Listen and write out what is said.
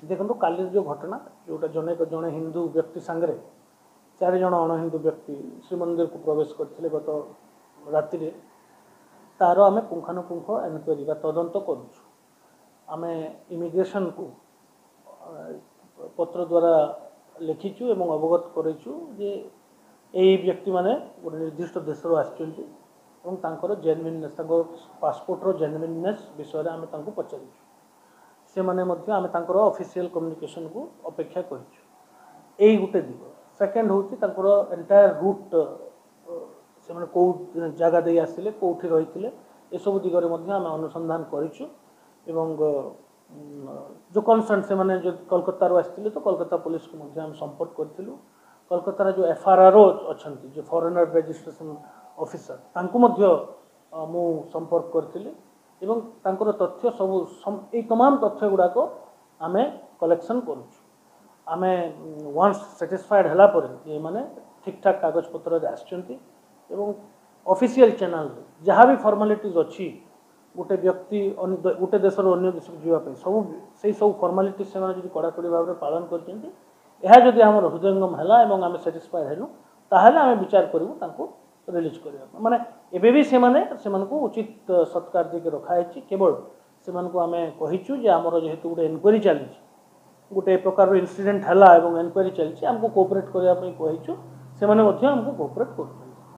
ଦେଖନ୍ତୁ, କାଲିର ଯେଉଁ ଘଟଣା, ଯେଉଁଟା ଜଣେ ହିନ୍ଦୁ ବ୍ୟକ୍ତି ସାଙ୍ଗରେ ଚାରିଜଣ ଅଣହିନ୍ଦୁ ବ୍ୟକ୍ତି ଶ୍ରୀମନ୍ଦିରକୁ ପ୍ରବେଶ କରିଥିଲେ ଗତ ରାତିରେ, ତାର ଆମେ ପୁଙ୍ଖାନୁପୁଙ୍ଖ ଏନକ୍ୱାରି ବା ତଦନ୍ତ କରୁଛୁ। ଆମେ ଇମିଗ୍ରେସନକୁ ପତ୍ର ଦ୍ୱାରା ଲେଖିଛୁ ଏବଂ ଅବଗତ କରାଇଛୁ ଯେ ଏଇ ବ୍ୟକ୍ତିମାନେ ଗୋଟେ ନିର୍ଦ୍ଦିଷ୍ଟ ଦେଶରୁ ଆସିଛନ୍ତି ଏବଂ ତାଙ୍କର ଜେନୁଇନନେସ୍, ତାଙ୍କ ପାସପୋର୍ଟର ଜେନୁଇନନେସ୍ ବିଷୟରେ ଆମେ ତାଙ୍କୁ ପଚାରିଛୁ। ସେମାନେ ମଧ୍ୟ, ଆମେ ତାଙ୍କର ଅଫିସିଆଲ କମ୍ୟୁନିକେସନକୁ ଅପେକ୍ଷା କରିଛୁ। ଏଇ ଗୋଟେ ଦିଗ। ସେକେଣ୍ଡ ହେଉଛି ତାଙ୍କର ଏଣ୍ଟାୟାର ରୁଟ୍, ସେମାନେ କେଉଁ ଜାଗା ଦେଇ ଆସିଲେ, କେଉଁଠି ରହିଥିଲେ, ଏସବୁ ଦିଗରେ ମଧ୍ୟ ଆମେ ଅନୁସନ୍ଧାନ କରିଛୁ। ଏବଂ ଯେଉଁ କନସର୍ନ, ସେମାନେ ଯଦି କୋଲକାତାରୁ ଆସିଥିଲେ ତ କୋଲକାତା ପୋଲିସକୁ ମଧ୍ୟ ଆମେ ସମ୍ପର୍କ କରିଥିଲୁ। କୋଲକାତାର ଯେଉଁ ଏଫ୍ ଆର୍ ଆର୍ ଓ ଅଛନ୍ତି, ଯେଉଁ ଫରେନର ରେଜିଷ୍ଟ୍ରେସନ ଅଫିସର, ତାଙ୍କୁ ମଧ୍ୟ ମୁଁ ସମ୍ପର୍କ କରିଥିଲି ଏବଂ ତାଙ୍କର ତଥ୍ୟ ସବୁ, ଏଇ ତମାମ ତଥ୍ୟ ଗୁଡ଼ାକ ଆମେ କଲେକ୍ସନ୍ କରୁଛୁ। ଆମେ ୱାନ୍ସ ସାଟିସ୍ଫାଏଡ଼୍ ହେଲା ପରେ ଯେ ଏମାନେ ଠିକ୍ଠାକ୍ କାଗଜପତ୍ରରେ ଆସିଛନ୍ତି ଏବଂ ଅଫିସିଆଲ ଚ୍ୟାନେଲରେ ଯାହା ବି ଫର୍ମାଲିଟିଜ୍ ଅଛି ଗୋଟେ ବ୍ୟକ୍ତି ଗୋଟେ ଦେଶରୁ ଅନ୍ୟ ଦେଶକୁ ଯିବା ପାଇଁ, ସବୁ ସେଇ ସବୁ ଫର୍ମାଲିଟିଜ୍ ସେମାନେ ଯଦି କଡ଼ାକଡ଼ି ଭାବରେ ପାଳନ କରିଛନ୍ତି, ଏହା ଯଦି ଆମର ହୃଦୟଙ୍ଗମ ହେଲା ଏବଂ ଆମେ ସାଟିସ୍ଫାଏଡ଼୍ ହେଲୁ, ତାହେଲେ ଆମେ ବିଚାର କରିବୁ ତାଙ୍କୁ ରିଲିଜ୍ କରିବା ପାଇଁ। ମାନେ ଏବେ ବି ସେମାନଙ୍କୁ ଉଚିତ ସତ୍କାର ଦେଇକି ରଖାହେଇଛି। କେବଳ ସେମାନଙ୍କୁ ଆମେ କହିଛୁ ଯେ ଆମର ଯେହେତୁ ଗୋଟେ ଏନକ୍ୱାରି ଚାଲିଛି, ଗୋଟେ ପ୍ରକାରର ଇନସିଡେଣ୍ଟ ହେଲା ଏବଂ ଏନକ୍ୱାରି ଚାଲିଛି, ଆମକୁ କୋଅପରେଟ୍ କରିବା ପାଇଁ କହିଛୁ। ସେମାନେ ମଧ୍ୟ ଆମକୁ କୋଅପରେଟ୍ କରୁଛନ୍ତି।